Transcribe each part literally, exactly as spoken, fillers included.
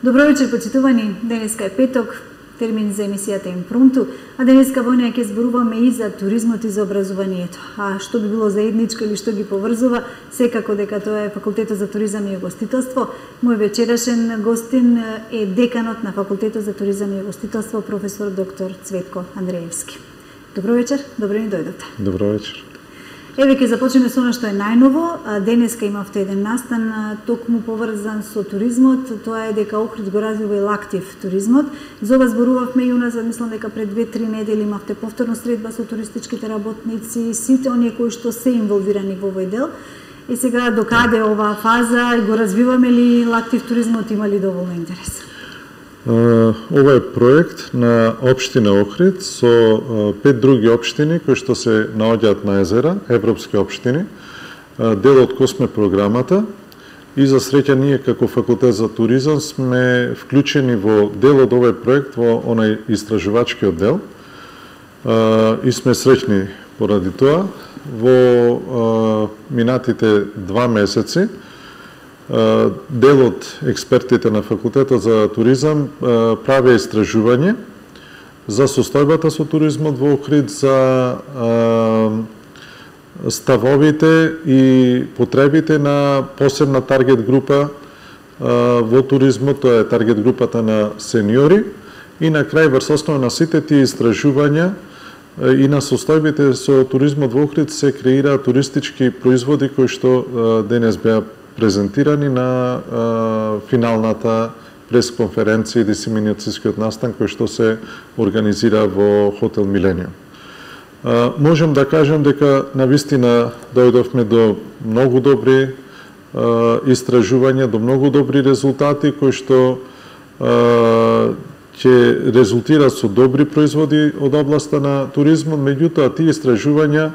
Добро вечер, почитувани. Денеска е петок, термин за емисијата Импрунту, а денеска во неја ќе зборуваме и за туризмот и за образованието. А што би било заедничко или што ги поврзува, секако дека тоа е Факултетот за туризам и угостителство. Мој вечерашен гостин е деканот на Факултетот за туризам и угостителство, професор доктор Цветко Андреевски. Добро вечер, добро ни дојдовте. Добро вечер. Еве ќе започнеме со она што е најново. Денеска имавте еден настан токму поврзан со туризмот. Тоа е дека Охрид го развива и лактив туризмот. За ова зборувавме и уназад, мислам дека пред две-три недели имавте повторно средба со туристичките работници, сите оние кои што се инволвирани во овој дел. И сега докаде оваа фаза, го развиваме ли лактив туризмот, има ли доволно интерес? Ова е проект на општина Охрид со пет други општини кои што се наоѓаат на езера, европски општини, дел од Косме програмата, и за среќа ние како Факултет за туризам сме вклучени во дел од овој проект во онај истражувачкиот дел и сме среќни поради тоа. Во минатите два месеци дел од експертите на Факултетот за туризам прави истражување за состојбата со туризмот во Охрид, за ставовите и потребите на посебна таргет група во туризмот, тоа е таргет групата на сениори, и на крај врз основа на сите тие истражувања и на состојбите со туризмот во Охрид се креираат туристички производи кои што денес беа презентирани на а, финалната пресконференција и дисеминацијскиот настан кој што се организира во Хотел Милениум. А, можем да кажем дека навистина дојдовме до многу добри а, истражувања, до многу добри резултати кои што а, ќе резултираат со добри производи од областа на туризмот, меѓутоа тие истражувања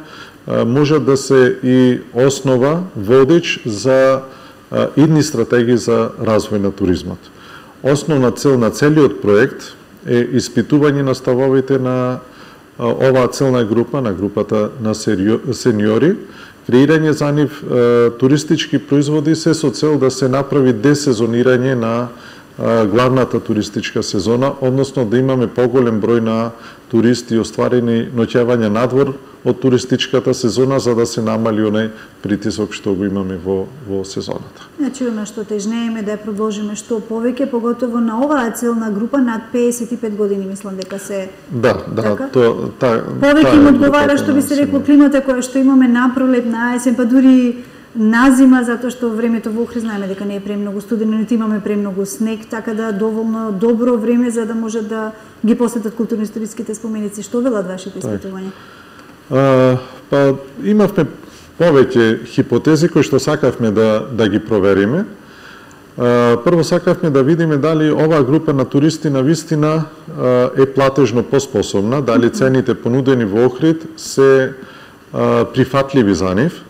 можат да се и основа, водич за идни стратегии за развој на туризмот. Основна цел на целиот проект е испитување на ставовите на оваа целна група, на групата на сениори, креирање за нив туристички производи се со цел да се направи десезонирање на главната туристичка сезона, односно да имаме поголем број на туристи и остварени ноќевања надвор од туристичката сезона, за да се намали онај притисок што го имаме во, во сезоната. Значи, оно што тежнееме да ја продолжиме што повеќе, поготово на оваа целна група над песет и пет години, мислам дека се... Да, да, така? то, та, повеќе им одговара, што би се рекло, климата која што имаме на пролет, на есен, па дури на зима, затоа што времето во Охрид знаеме дека не е премногу студено, нити имаме премногу снег, така да доволно добро време за да може да ги посетат културно-историските споменици. Што велат вашите испитувања? А, па имавме повеќе хипотези кои што сакавме да да ги провериме. А, прво сакавме да видиме дали оваа група на туристи навистина е платежно поспособна, дали цените понудени во Охрид се а, прифатливи за нив.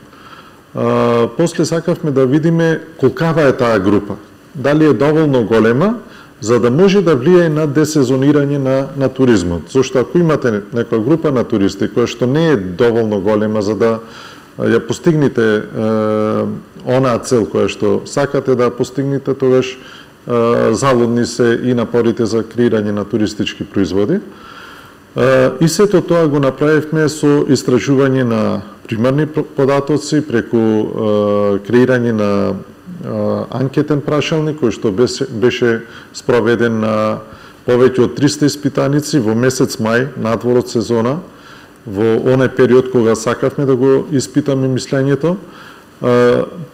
А, после сакавме да видиме колкава е таа група, дали е доволно голема за да може да влијае на десезонирање на, на туризмот. Зошто ако имате некоја група на туристи која што не е доволно голема за да ја постигнете е, онаа цел која што сакате да постигнете, тогаш е, залудни се и напорите за креирање на туристички производи. Е, и сето тоа го направивме со истражување на примарни податоци преку е, креирање на анкетен прашалник кој што беше, беше спроведен на повеќе од триста испитаници во месец мај, надвор од сезона, во онај период кога сакавме да го испитаме мислењето.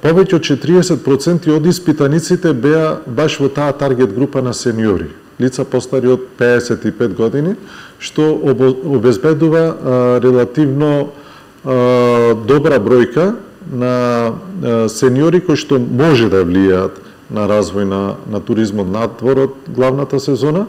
Повеќе од четириесет проценти од испитаниците беа баш во таа таргет група на сениори, лица постари од пеесет и пет години, што обезбедува релативно добра бројка на сениори кои што може да влијаат на развој на, на туризмот надвор од главната сезона,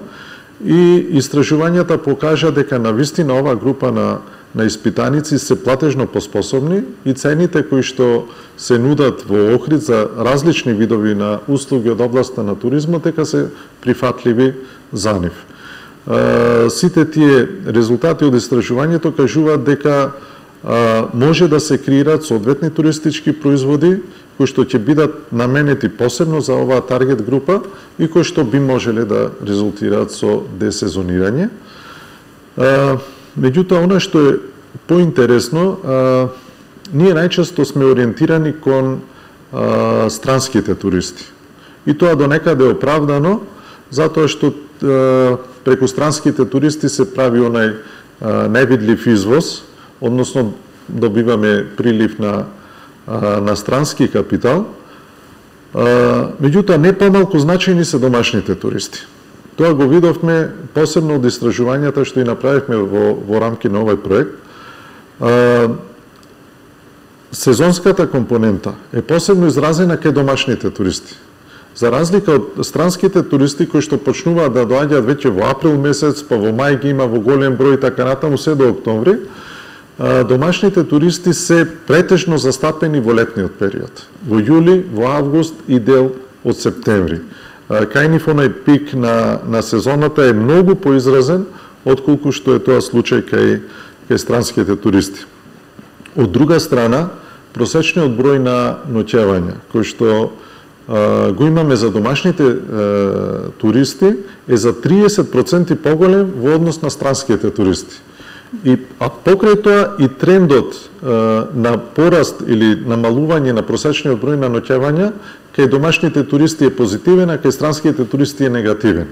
и истражувањата покажа дека навистина оваа група на, на испитаници се платежно поспособни и цените кои што се нудат во Охрид за различни видови на услуги од областа на туризмот дека се прифатливи за нив. сите тие резултати од истражувањето кажуваат дека може да се креираат соодветни туристички производи кои што ќе бидат наменети посебно за оваа таргет група и кои што би можеле да резултираат со десезонирање. Меѓутоа, она што е поинтересно, ние најчесто сме ориентирани кон а, странските туристи. И тоа до некаде е оправдано, затоа што а, преку странските туристи се прави онај а, невидлив извоз, односно добиваме прилив на, а, на странски капитал. А, меѓутоа, не помалку значајни се домашните туристи. Тоа го видовме посебно од истражувањата што и направивме во, во рамки на овој проект. А, сезонската компонента е посебно изразена кај домашните туристи. За разлика од странските туристи кои што почнуваат да доаѓаат веќе во април месец, па во мај ги има во голем број така натаму се до октомври, домашните туристи се претежно застапени во летниот период. Во јули, во август и дел од септември. Кај нив онај пик на, на сезоната е многу поизразен отколку што е тоа случај кај, кај странските туристи. Од друга страна, просечниот број на ноќевања, кој што а, го имаме за домашните а, туристи, е за триесет проценти поголем во однос на странските туристи. И а покрај тоа и трендот а, на пораст или намалување на просечниот број на ноќевања кај домашните туристи е позитивен, а кај странските туристи е негативен.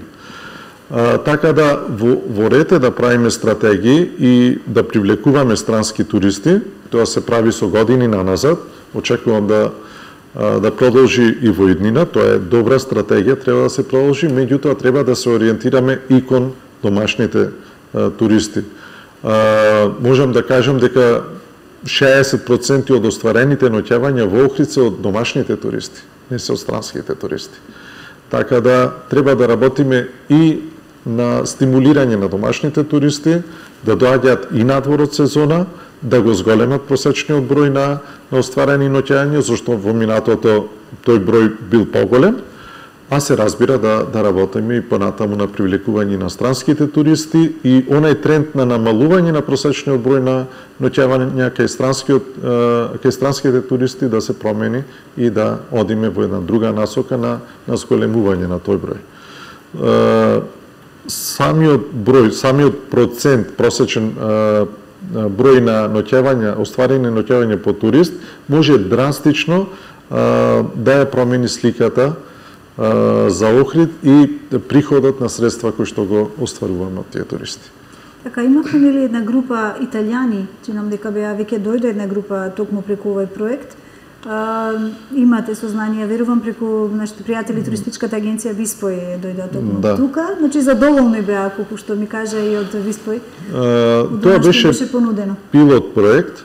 А, така да во, во ред е да правиме стратегии и да привлекуваме странски туристи. Тоа се прави со години наназад. Очекувам да да продолжи и во иднина. Тоа е добра стратегија, треба да се продолжи, меѓутоа треба да се ориентираме и кон домашните а, туристи. А, можам да кажам дека шеесет проценти од остварените ноќевања во Охрид се од домашните туристи, не се од странските туристи. Така да треба да работиме и на стимулирање на домашните туристи, да доаѓаат и надвор од сезона, да го зголемат просечниот број на, на остварени ноќевања, зашто во минатото тој број бил поголем, а се разбира да, да работиме и понатаму на привлекување на странските туристи и онај тренд на намалување на просечниот број на ноќевања кај странскиот кај странските туристи да се промени и да одиме во една друга насока на на зголемување на тој број. Самиот број, самиот процент просечен број на ноќевања, остварени ноќевања по турист може драстично да ја промени сликата за Охрид и приходот на средства кои што го остваруваме од тие туристи. Така, имавме нели една група италијани, чинам дека беа веќе дојде една група токму преку овој проект. А, имате сознание, верувам, преку нашите пријатели туристичката агенција Виспој дојде токму да. Тука, значи задоволни беа, колку што ми кажа и од Виспој. А, тоа беше, беше понудено. Пилот проект.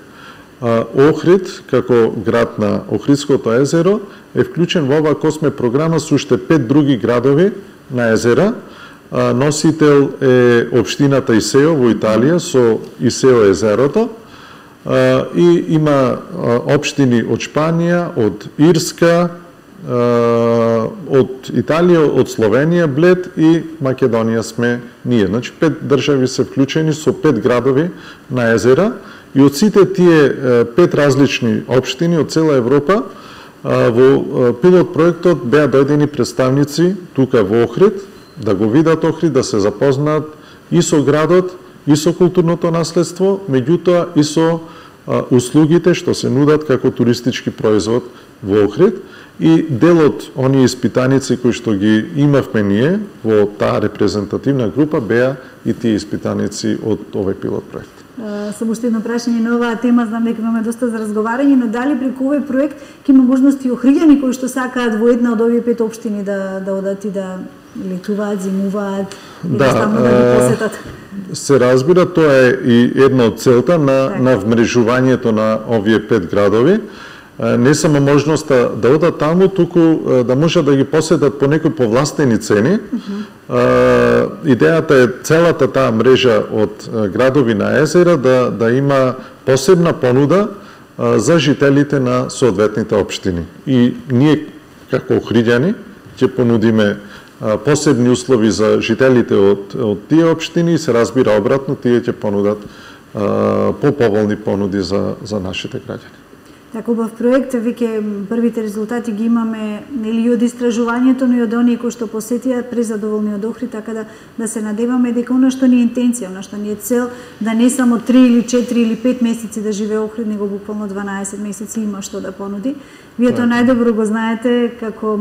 Охрид, како град на Охридското езеро, е вклучен во оваа Косме програма со уште пет други градови на езера. Носител е општината Исео во Италија со Исео езерото. И има општини од Шпанија, од Ирска, од Италија, од Словенија, Блед и Македонија сме ние. Значи пет држави се вклучени со пет градови на езера. И од сите тие пет различни општини од цела Европа во пилот проектот беа дојдени представници тука во Охрид, да го видат Охрид, да се запознаат и со градот, и со културното наследство, меѓутоа и со услугите што се нудат како туристички производ во Охрид. И дел од оние испитаници кои што ги имавме ние во таа репрезентативна група беа и тие испитаници од овој пилот проект. Само уште едно прашање на оваа тема, знам дека имаме доста за разговарање, но дали преку овој проект ќе има можности охриѓани кои што сакаат во една од овие пет општини да да одат и да летуваат, зимуваат и да, да да ги посетат? Се разбира, тоа е и една од целта на, на вмрежувањето на овие пет градови. Не само можноста да одат таму, туку да можат да ги посетат по некои повластени цени. Uh-huh. Идејата е целата таа мрежа од градови на езера да, да има посебна понуда за жителите на соодветните општини. И ние, како охриѓани, ќе понудиме посебни услови за жителите од, од тие општини и се разбира обратно, тие ќе понудат по-поволни понуди за, за нашите граѓани. Така убав проект, веќе првите резултати ги имаме нели од истражувањето, но и од оние кои што посетија презадоволни од Охрид, така да да се надеваме дека она што ни е интенција, она што ни е цел, да не само три или четири или пет месеци да живее Охрид, него буквално дванаесет месеци има што да понуди. Вие тоа најдобро го знаете како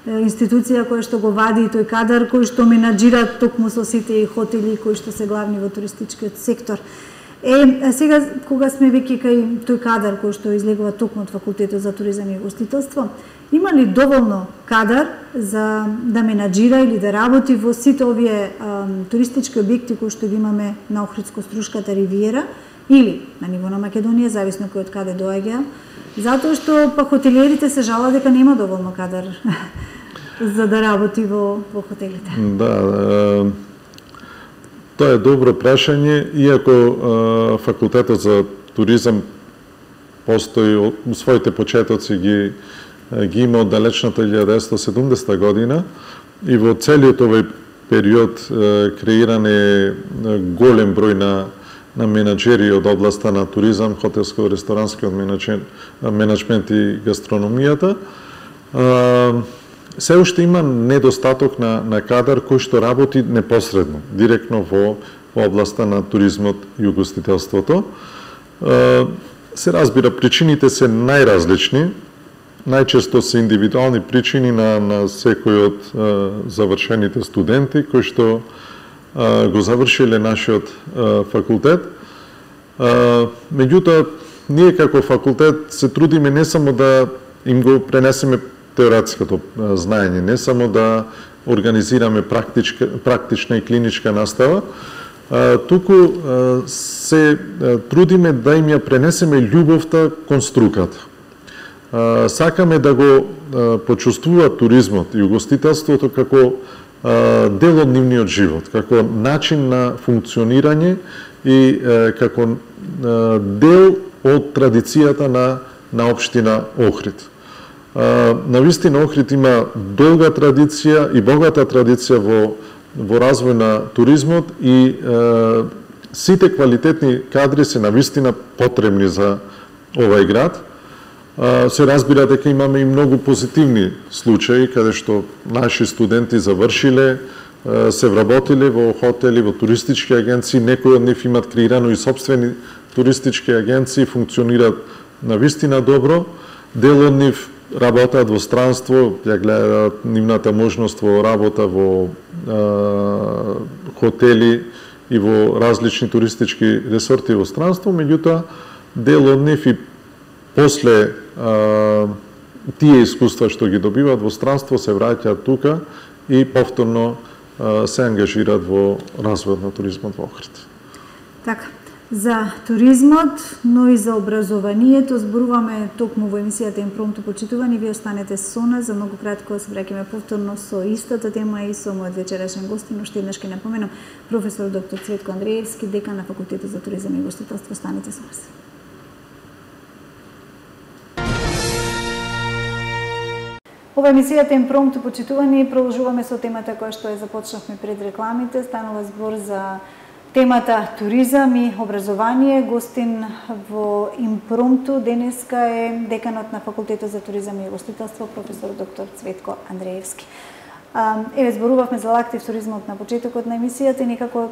институција која што го вади тој кадар кој што менаџира токму со сите хотели кои што се главни во туристичкиот сектор. Е, сега, кога сме веќе кај тој кадар кој што излегува токму од Факултетот за туризам и гостителство, има ли доволно кадар за да менаџира или да работи во сите овие а, туристички објекти кои што ги имаме на Охридско-Струшката ривиера или на ниво на Македонија, зависно кој од каде доаѓа, затоа што па хотелиерите се жалат дека нема доволно кадар за да работи во, во хотелите. Да, тоа е добро прашање, иако е, Факултетот за туризам постои од своите почетоци ги ги има од далечната илјада деветстотини и седумдесета година и во целиот овој период е, креиран е голем број на на менаџери од областа на туризам, хотелско-ресторанскиот менаџмент и гастрономијата. Е, се уште има недостаток на, на кадар кој што работи непосредно, директно во, во областа на туризмот и угостителството. Е, се разбира, причините се најразлични, најчесто се индивидуални причини на, на секој од е, завршените студенти кои што е, го завршиле нашиот е, факултет. Е, меѓутоа, ние како факултет се трудиме не само да им го пренесеме теоретското знаење, не само да организираме практичка, практична и клиничка настава, туку се трудиме да им ја пренесеме љубовта кон струката. Сакаме да го почувствуваат туризмот и угостителството како дел од нивниот живот, како начин на функционирање и како дел од традицијата на, на општина Охрид. Навистина Охрид има долга традиција и богата традиција во, во развој на туризмот и е, сите квалитетни кадри се навистина потребни за овај град. Е, се разбира дека имаме и многу позитивни случаи каде што наши студенти завршиле, е, се вработиле во хотели, во туристички агенции, некои од нив имат креирано и собствени туристички агенции, функционираат навистина добро, дел од нив работаат во странство, ја гледаат нивната можност во работа во е, хотели и во различни туристички ресорти во странство, меѓутоа дел од нив и после е, тие искуства што ги добиваат во странство се враќаат тука и повторно е, се ангажираат во развојот на туризмот во Охрид. Така. За туризмот, но и за образованието зборуваме токму во емисијата Импромту почитувани. Вие останете со нас, за многу кратко се враќаме повторно со истата тема и со мојот вечерашен гостин. Уште еднаш ќе напоменам, професор доктор Цветко Андреевски, декан на Факултетот за туризам и гостителство. Останете со нас. Ова емисијата Импромту почитувани, продолжуваме со темата која што ја започнавме пред рекламите. Станува збор за темата туризам и образование. Гостин во Импромту денеска е деканот на Факултетот за туризам и гостителство, професор доктор Цветко Андреевски. Еве, зборувавме за лактив туризмот на почетокот на емисијата и некако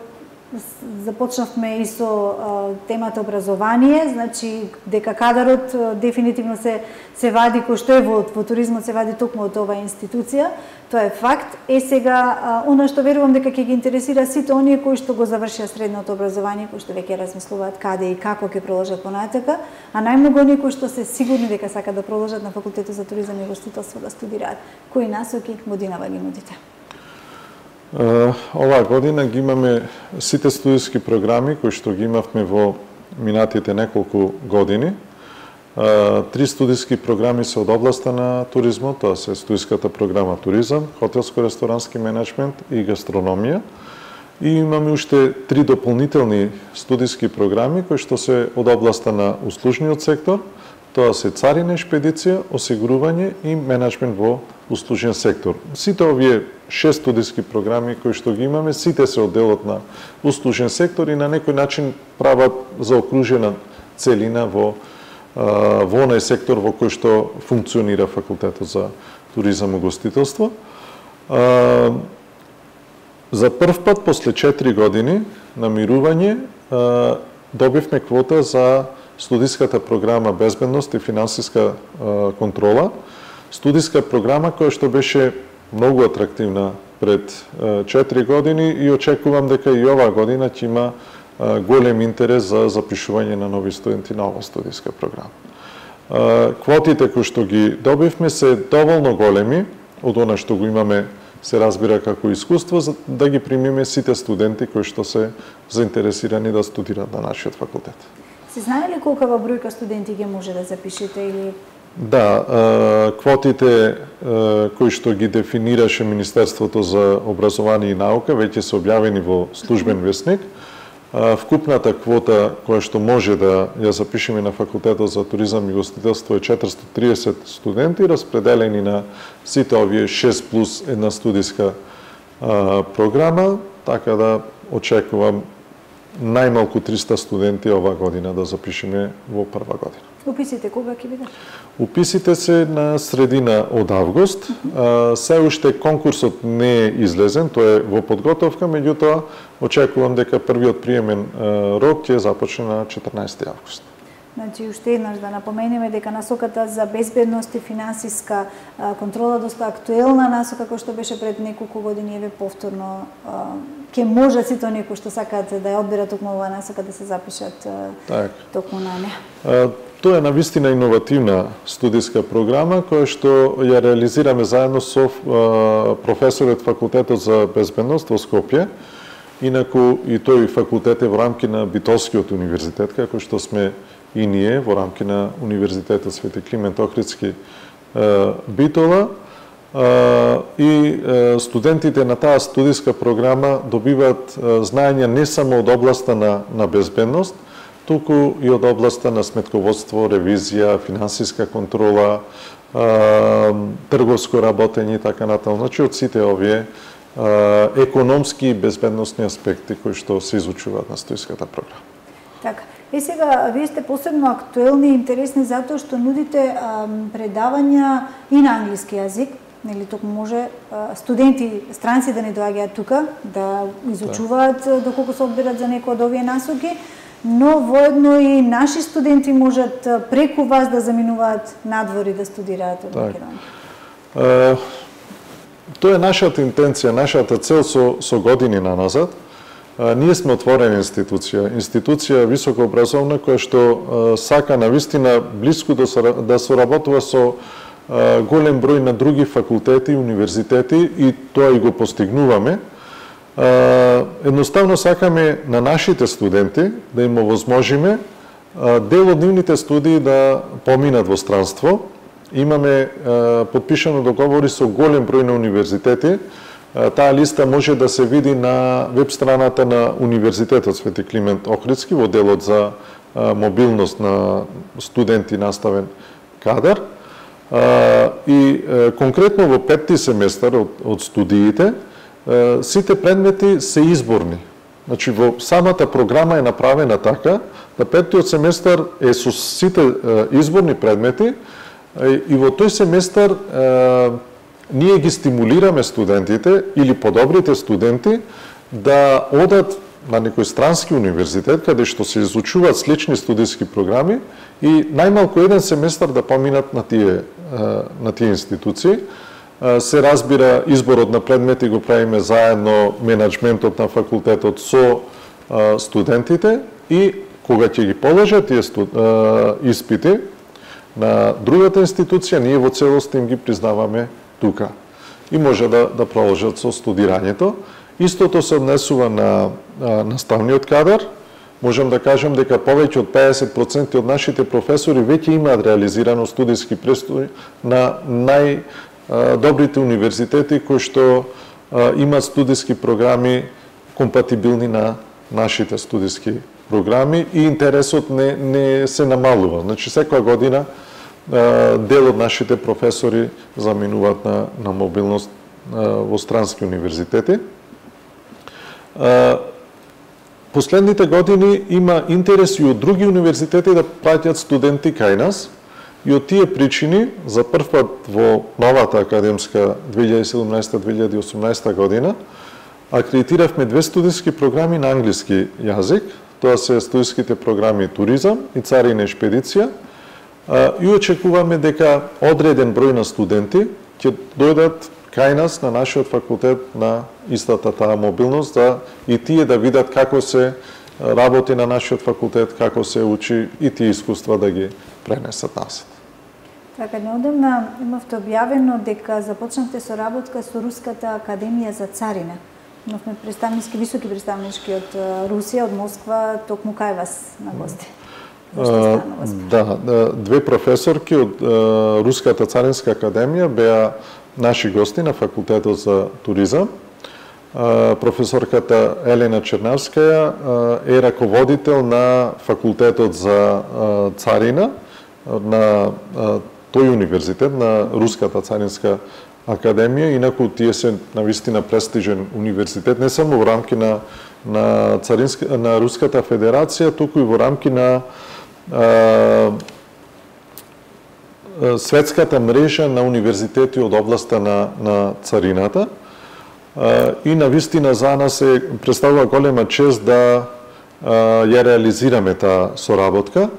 започнавме и со а, темата образование, значи дека кадарот а, дефинитивно се се вади кој што е во, во туризмот се вади токму од оваа институција. Тоа е факт. Е сега а, она што верувам дека ќе ги интересира сите оние кои што го завршија средното образование, кои што веќе размислуваат каде и како ќе продолжат понатака, а најмногу оние кои што се сигурни дека сакаат да продолжат на Факултетот за туризам и гостителство да студираат. Кои насоки годинава ги нудите? Оваа година ги имаме сите студиски програми кои што ги имавме во минатите неколку години. Три студиски програми се од областа на туризмот, тоа се студиската програма туризам, хотелско-ресторански менеджмент и гастрономија. И имаме уште три дополнителни студиски програми кои што се од областа на услужниот сектор, Тоа се царина и шпедиција, осигурување и менеджмент во услужен сектор. Сите овие шест студиски програми кои што ги имаме, сите се од делот на услужен сектор и на некој начин прават заокружена целина во во онај сектор во кој што функционира факултетот за туризам и гостителство. За прв пат после четири години на мирување добивме квота за студиската програма Безбедност и финансиска контрола. Студиска програма која што беше многу атрактивна пред четири години и очекувам дека и оваа година ќе има голем интерес за запишување на нови студенти на оваа студиска програма. Квотите кои што ги добивме се доволно големи од она што го имаме, се разбира како искуство, за да ги примиме сите студенти кои што се заинтересирани да студираат на нашиот факултет. Се знае ли колкава бројка студенти ги може да запишете или? Да, квотите кои што ги дефинираше Министерството за образование и наука веќе се објавени во службен весник. Вкупната квота која што може да ја запишеме на факултетот за туризам и гостителство е четиристотини и триесет студенти, распределени на сите овие шест плюс една студиска а, програма, така да очекувам најмалку триста студенти оваа година да запишеме во прва година. Уписите кога ќе бидат? Уписите се на средина од август. А, се уште конкурсот не е излезен, тој е во подготовка, меѓутоа очекувам дека првиот приемен а, рок ќе започне на четрнаесети август. Значи, уште еднаш да напоменеме дека насоката за безбедност и финансиска а, контрола доста актуелна насока која што беше пред неколку години, еве повторно а, ќе може сите оние кои што сакаат да ја одберат токму оваа насока да се запишат а, так. токму на неа. А, тоа е навистина иновативна студиска програма која што ја реализираме заедно со а, професорот факултетот за безбедност во Скопје. Инаку и тој факултет е во рамки на Битолскиот универзитет, како што сме и ние во рамки на Универзитетот Свети Климент Охридски Битола. И студентите на таа студиска програма добиваат знаења не само од областа на, на безбедност, туку и од областа на сметководство, ревизија, финансиска контрола, трговско работење и така натаму. Значи од сите овие економски и безбедносни аспекти кои што се изучуваат на студиската програма. Така. И сега, вие сте посебно актуелни и интересни затоа што нудите а, предавања и на англиски јазик, нели токму може а, студенти странци да не доаѓаат тука, да изучуваат да. доколку се одберат за некои од овие насоки, но воедно и наши студенти можат преку вас да заминуваат надвор и да студираат од Македонија. Тоа е нашата интенција, нашата цел со, со години наназад. А, ние сме отворена институција, институција високообразовна која што а, сака навистина блиску да, да соработува со а, голем број на други факултети и универзитети и тоа и го постигнуваме. А, едноставно сакаме на нашите студенти да им овозможиме а, дел од нивните студии да поминат во странство. Имаме а, подпишано договори со голем број на универзитети. Таа листа може да се види на веб страната на Универзитетот Свети Климент Охридски во делот за мобилност на студенти наставен кадар. И конкретно во петти семестар од, од студиите, сите предмети се изборни. Значи во самата програма е направена така, да петтиот семестар е со сите изборни предмети и во тој семестар ние ги стимулираме студентите или подобрите студенти да одат на некој странски универзитет каде што се изучуваат слични студиски програми и најмалку еден семестар да поминат на тие на тие институции. Се разбира, изборот на предмети го правиме заедно, менеджментот на факултетот со студентите и кога ќе ги положат тие испити на другата институција, ние во целост им ги признаваме тука и може да, да продолжат со студирањето. Истото се однесува на а, наставниот кадар. Можам да кажам дека повеќе од педесет проценти од нашите професори веќе имаат реализирано студиски престој на најдобрите универзитети кои што а, имаат студиски програми компатибилни на нашите студиски програми и интересот не, не се намалува. Значи секоја година дел од нашите професори заминуваат на, на мобилност во странски универзитети. Последните години има интерес и од други универзитети да праќат студенти кај нас, и од тие причини за прв пат во новата академска две илјади и седумнаесета две илјади и осумнаесета година акредитиравме две студиски програми на англиски јазик. Тоа се студиските програми Туризам и Царина и шпедиција. И очекуваме дека одреден број на студенти ќе дојдат кај нас на нашиот факултет на истата таа мобилност, да и тие да видат како се работи на нашиот факултет, како се учи и тие искуства да ги пренесат насад. Така, неодамна имавте објавено дека започнавте соработка со Руската академија за царина. Имавме представнички, високи представнички од Русија, од Москва, токму кај вас на гости. Uh, да, две професорки од uh, Руската царинска академија беа наши гости на факултетот за туризам. Uh, професорката Елена Чернавскаја uh, е раководител на факултетот за uh, царина на uh, тој универзитет, на Руската царинска академија, инаку тие се навистина престижен универзитет, не само во рамки на на царинска на Руската федерација, туку и во рамки на а, светската мрежа на универзитети од областа на на царината. А, и навистина за нас е представува голема чест да а, ја реализираме таа соработка.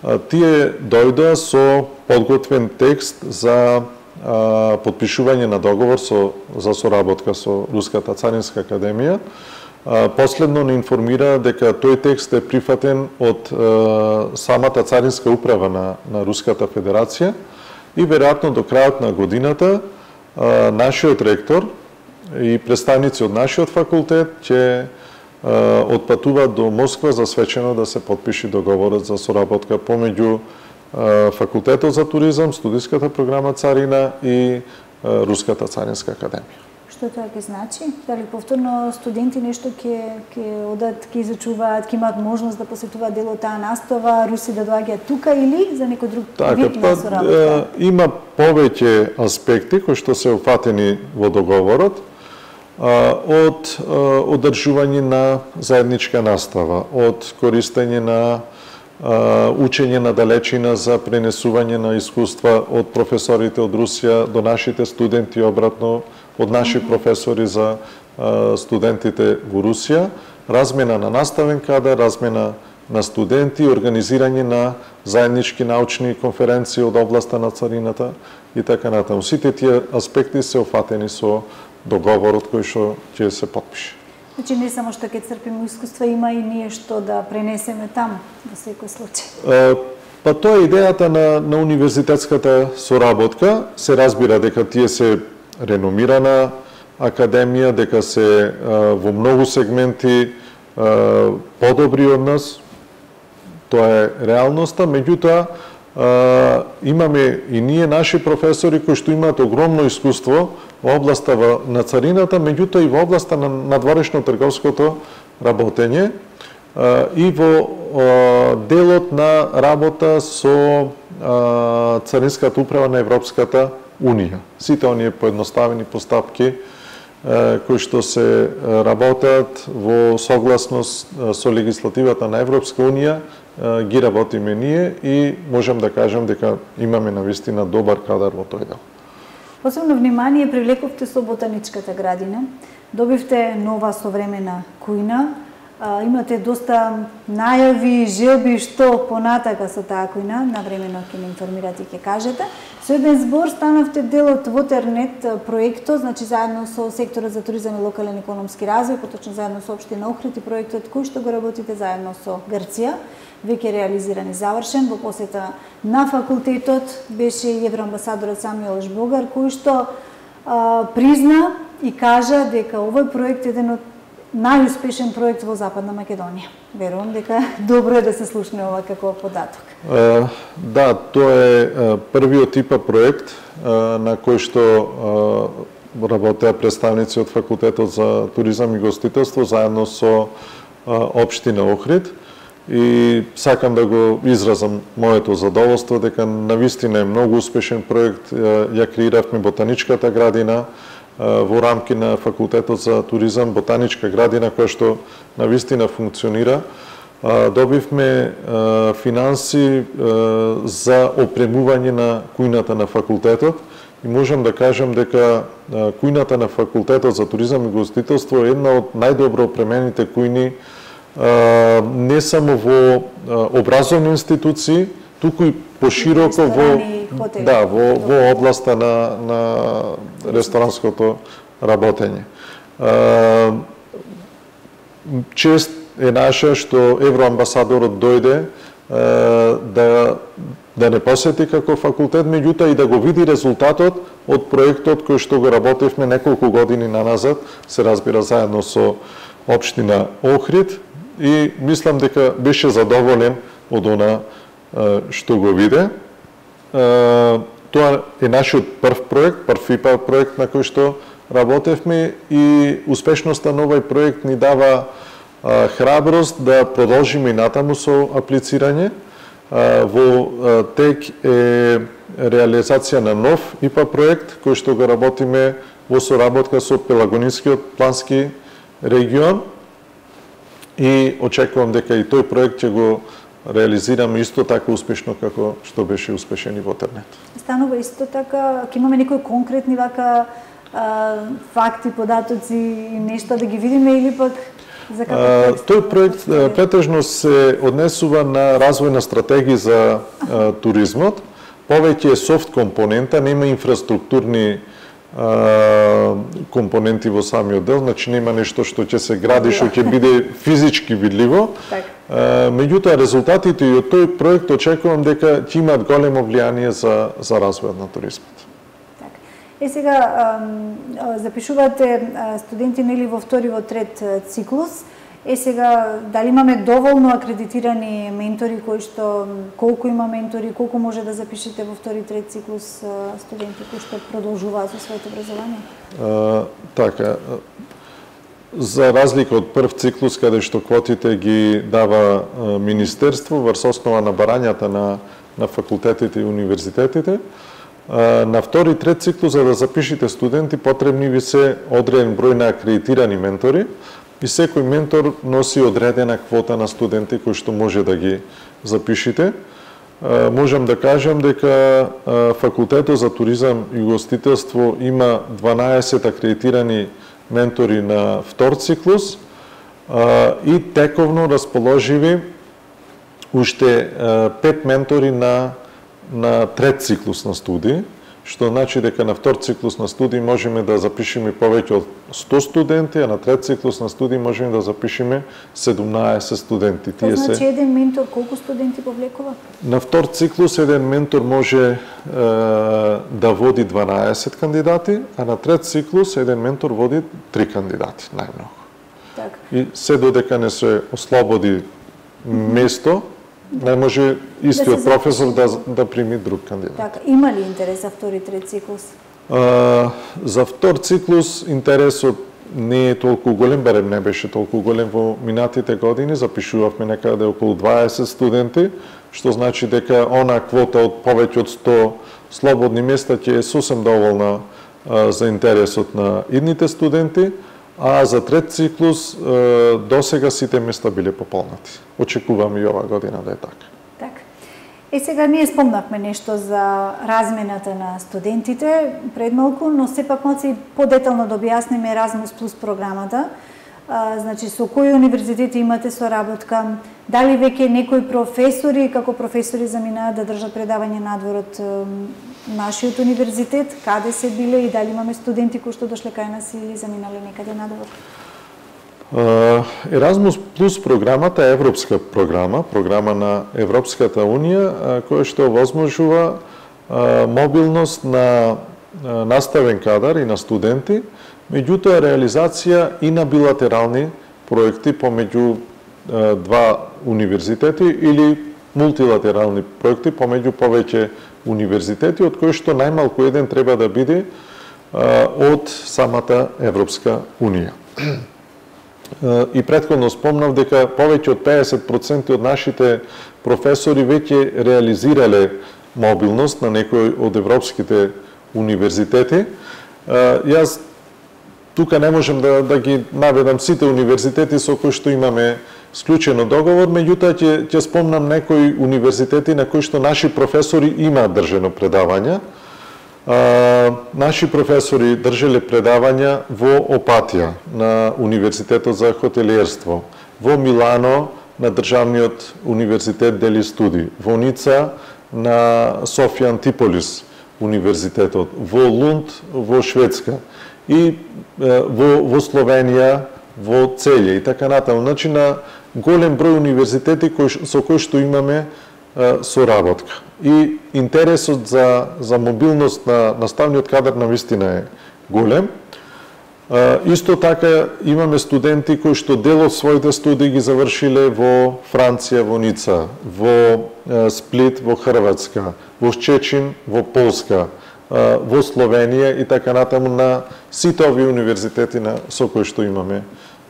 А, тие дојдоа со подготвен текст за а, подпишување на договор со за соработка со Руската царинска академија. А, последно не информира дека тој текст е прифатен од а, самата царинска управа на на Руската федерација и веројатно до крајот на годината а, нашиот ректор и представници од нашиот факултет ќе отпатуваат до Москва за свечено да се подпише договорот за соработка помеѓу факултетот за туризам, студиската програма Царина и Руската царинска академија. Што тоа ќе значи? Дали повторно студенти нешто ќе ќе одат, ќе изучуваат, ќе имаат можност да посетуваат дел од таа настава, руси да доаѓаат тука или за некој друг вид на соработка? Има повеќе аспекти кои што се опфатени во договорот. Од одржување на заедничка настава, од користење на учење на далечина за пренесување на искуства од професорите од Русија до нашите студенти, обратно од наши професори за студентите во Русија, размена на наставен кадар, размена на студенти, организирање на заеднички научни конференции од областа на царината и така натаму. Сите тие аспекти се офатени со договорот кој што ќе се подпише. Значи не само што ќе црпиме искуства, има и ние што да пренесеме таму во секој случај. Па тоа е идејата на на универзитетската соработка. Се разбира дека тие се реномирана академија, дека се во многу сегменти подобри од нас. Тоа е реалноста, меѓутоа имаме и ние наши професори кои што имаат огромно искуство во областа на царината, меѓутоа и во областа на надворешно трговското работење и во делот на работа со царинската управа на Европската Унија. Сите оние поедноставени постапки кои што се работат во согласност со легислативата на Европска Унија ги работиме ние и можам да кажам дека имаме навистина добар кадар во тој дел. Посебно внимание привлековте со ботаничката градина. Добивте нова современа кујна. А, имате доста најави, желби што понатака со таа кујна. Навремено ќе ме информирате и ќе кажете. Со еден збор станавте дел од Вотернет проектот, значи заедно со секторот за туризам и локален економски развој, поточно заедно со општина Охрид и проектот кој што го работите заедно со Грција. Веќе реализиран и завршен. Во посета на факултетот беше и евроамбасадорот Самуел Жбогар, кој што а, призна и кажа дека овој проект е еден од најуспешен проект во Западна Македонија. Верувам дека добро е да се слушне ова како податок. Uh, да, тоа е uh, првиот типа проект uh, на кој што uh, работеа представници од факултетот за туризам и гостителство заедно со uh, општина Охрид. и сакам да го изразам моето задоволство дека навистина е многу успешен проект. Ја креиравме ботаничката градина во рамки на факултетот за туризам, ботаничка градина која што навистина функционира. Добивме финанси за опремување на кујната на факултетот и можам да кажам дека кујната на факултетот за туризам и гостителство е една од најдобро опремените кујни не само во образовни институции, туку и пошироко во да, во во областа на на ресторанското работење. Чест е наша што евроамбасадорот дојде да да не посети како факултет, меѓутоа и да го види резултатот од проектот кој што го работевме неколку години наназад, се разбира заедно со општина Охрид, и мислам дека беше задоволен од она што го виде. Тоа е нашиот прв проект, прв ИПА проект на кој што работевме, и успешноста на овој проект ни дава храброст да продолжиме и натаму со аплицирање. Во тек е реализација на нов ИПА проект кој што го работиме во соработка со Пелагонискиот плански регион, и очекувам дека и тој проект ќе го реализираме исто така успешно како што беше успешен и во Тернет. Станува исто така, ќе имаме некои конкретни вака а, факти, податоци и нешто да ги видиме, или пак за како текст? Тој проект претежно се однесува на развојна стратегија за а, туризмот. Повеќе е софт компонента, нема инфраструктурни а, компоненти во самиот дел, значи нема нешто што ќе се гради, што ќе биде физички видливо. А, меѓутоа резултатите и од тој проект очекувам дека ќе имаат големо влијание за за развојот на туризмот. Е, сега запишувате студенти нели во втори, во трет циклус. Е, сега дали имаме доволно акредитирани ментори, кои што колку има ментори, колку може да запишете во втори, трет циклус студенти кои што продолжуваат со своето образование? А, така, за разлика од прв циклус каде што квотите ги дава министерство врз основа на барањата на на факултетите и универзитетите, на втори, трет циклус за да запишете студенти потребни ви се одреден број на акредитирани ментори, и секој ментор носи одредена квота на студенти кои што може да ги запишете. Можам да кажам дека факултетот за туризам и гостителство има дванаесет акредитирани ментори на втор циклус и тековно расположиви уште пет ментори на на трет циклус на студии, што значи дека на втор циклус на студии можеме да запишеме повеќе од сто студенти, а на трет циклус на студии можеме да запишеме седумнаесет студенти. Тоа значи се... еден ментор колку студенти повлекува? На втор циклус еден ментор може е, да води дванаесет кандидати, а на трет циклус еден ментор води три кандидати, најмногу. Так. И се додека не се ослободи место, не може истиот да професор да, да прими друг кандидат. Така, има ли интерес за втори, трет циклус? А, за втор циклус интересот не е толку голем, барем не беше толку голем во минатите години, запишувавме некаде околу дваесет студенти, што значи дека она квота од повеќе од сто слободни места ќе е сосем доволна а, за интересот на идните студенти, а за трет циклус до сега сите места биле пополнати. Очекуваме и ова година да е така. Така. Е, сега ние спомнавме нешто за размената на студентите пред малку, но сепак моци подетално да објасниме Еразмус плюс програмата. А, значи, со кои универзитети имате соработка? Дали веќе некои професори, како професори заминаат да држат предавање надвор од нашиот универзитет? Каде се биле и дали имаме студенти кои што дошле кај нас или заминале некаде надвор? Еразмус плюс програмата е европска програма, програма на Европската унија, која што овозможува мобилност на наставен кадар и на студенти, меѓутоа реализација и на билатерални проекти помеѓу два универзитети или мултилатерални проекти помеѓу повеќе универзитети, од кои што најмалку еден треба да биде од самата Европска унија. и претходно спомнав дека повеќе од педесет проценти од нашите професори веќе реализирале мобилност на некој од европските универзитети. Јас тука не можем да, да ги наведам сите универзитети со кои што имаме склучено договор, меѓутоа ќе ќе спомнам некои универзитети на кои што наши професори имаат држено предавања. А, наши професори држеле предавања во Опатија на Универзитетот за хотелиерство, во Милано на Државниот универзитет Дели Студи, во Ница на Софија Антиполис универзитетот, во Лунд во Шведска и во, во Словенија во Целје и така натаму. Значи на голем број универзитети кои, со кои што имаме е, соработка. И интересот за, за мобилност на наставниот кадар на вистина е голем. Е, исто така имаме студенти кои што дел од своите студии ги завршиле во Франција, во Ница, во е, Сплит, во Хрватска, во Щечин, во Полска, е, во Словенија и така натаму на сите овие универзитети на, со кои што имаме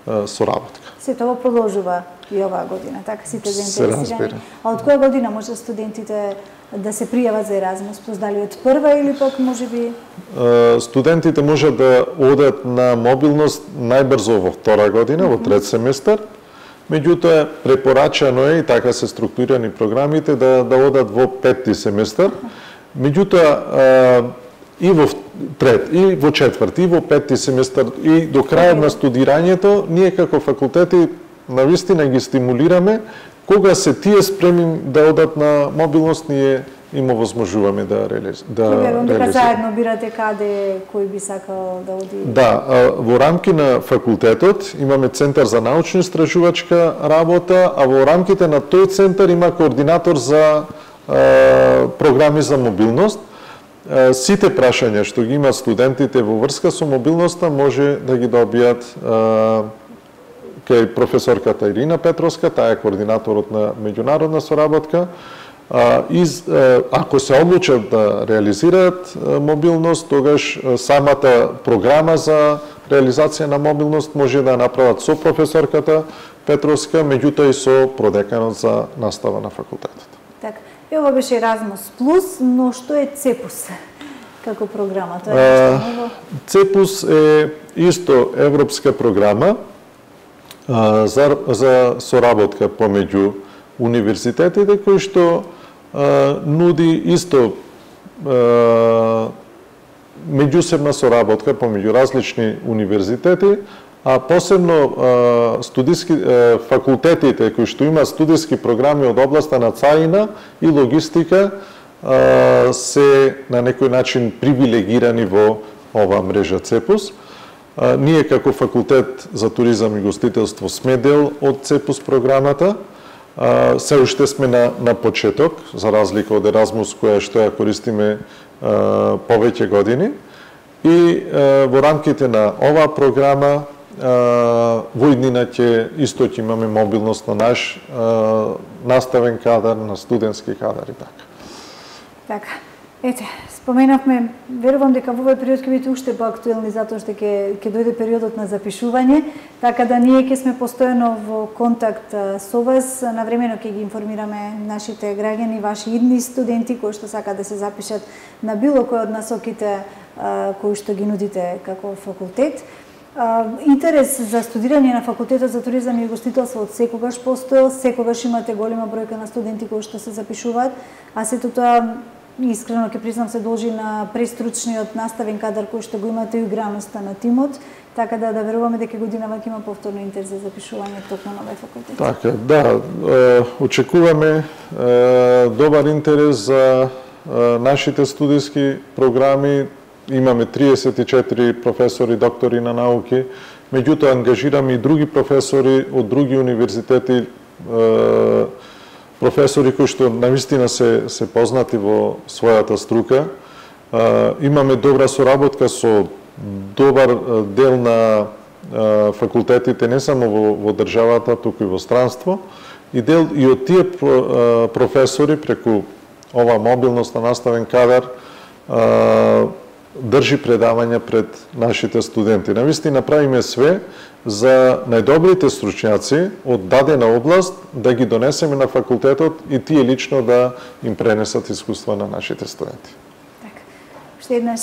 е, соработка. Сето ovo продолжува и оваа година, така сите заинтересирани. А од која година може студентите да се пријават за Еразмус плюс, дали од прва или пак можеби? Студентите можат да одат на мобилност најбрзо во втора година, mm -hmm. во трет семестар. Меѓутоа препорачано е и така се структурирани програмите да да одат во петти семестар. Меѓутоа и во трет, и во четврти, и во петти семестар, и до крајот на студирањето, ние како факултети навистина ги стимулираме, кога се тие спремни да одат на мобилност, ние им овозможуваме да реализираме. Да реализираме. Заедно бирате каде кој би сакал да оди? Да, во рамки на факултетот имаме Центар за научно-истражувачка работа, а во рамките на тој центар има координатор за а, програми за мобилност. Сите прашања што ги имаат студентите во врска со мобилноста може да ги добијат а, кај професорката Ирина Петровска, таа е координаторот на меѓународна соработка. А, из, а, ако се одлучат да реализираат а, мобилност, тогаш а, самата програма за реализација на мобилност може да направат со професорката Петровска, меѓутоа и со продеканот за настава на факултетот. Така. И ова беше Еразмус плюс, но што е Цепус како програма? Тоа е нешто ново? Цепус е исто европска програма а, за, за соработка помеѓу универзитетите, кој што а, нуди исто а, меѓусебна соработка помеѓу различни универзитети, а посебно а, студиски а, факултетите кои што имаат студиски програми од областа на царина и логистика а, се на некој начин привилегирани во оваа мрежа Цепус. А, ние како факултет за туризам и гостителство сме дел од Цепус програмата. А, се уште сме на, на почеток, за разлика од Еразмус која што ја користиме а, повеќе години. И а, во рамките на оваа програма во иднина ќе исто ќе имаме мобилност на наш а, наставен кадар, на студентски кадар и така. Така. Ете, споменавме, верувам дека во овој период ќе бидете уште поактуелни затоа што ќе ќе дојде периодот на запишување, така да ние ќе сме постојано во контакт со вас, навремено ќе ги информираме нашите граѓани, ваши идни студенти кои што сакаат да се запишат на било кој од насоките кои што ги нудите како факултет. Интерес за студирање на факултетот за туризам и гостителство од секогаш постоел, секогаш имате голема бројка на студенти кои што се запишуваат, а сето тоа искрено ќе признам се должи на престручниот наставен кадар кој што го имате и играноста на тимот, така да да веруваме дека годинава ќе има повторно интерес за запишување токму на овој факултет. Така, да, е, очекуваме е, добар интерес за е, нашите студиски програми. Имаме триесет и четири професори, доктори на науки, меѓутоа ангажираме и други професори од други универзитети, професори кои што навистина се, се познати во својата струка. Имаме добра соработка со добар дел на факултетите, не само во, во државата, туку и во странство, и дел и од тие професори преку ова мобилност на наставен кадар држи предавања пред нашите студенти. Навистина правиме све за најдобрите стручњаци од дадена област да ги донесеме на факултетот и тие лично да им пренесат искуства на нашите студенти. Така. Уште еднаш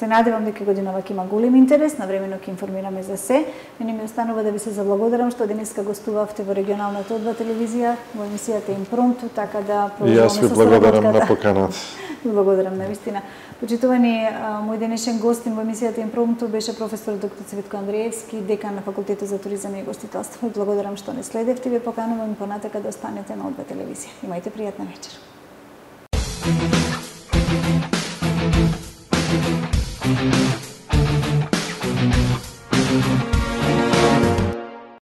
се надевам дека годинава ќе има голем интерес, навремено ќе информираме за се. Мене ми останува да ви се заблагодарам што денеска гостувавте во регионалната О два телевизија, во емисијата Импромту, така да продолжуваме со соработката. И јас ви благодарам на поканата. Благодарам навистина. Почитувани, мој денешен гостин во емисијата Импромту беше професор доктор Цветко Андреевски, декан на Факултетот за туризам и гостителство. Благодарам што не следевте, ви поканувам понатака да останете на О два телевизија. Имајте пријатна вечер.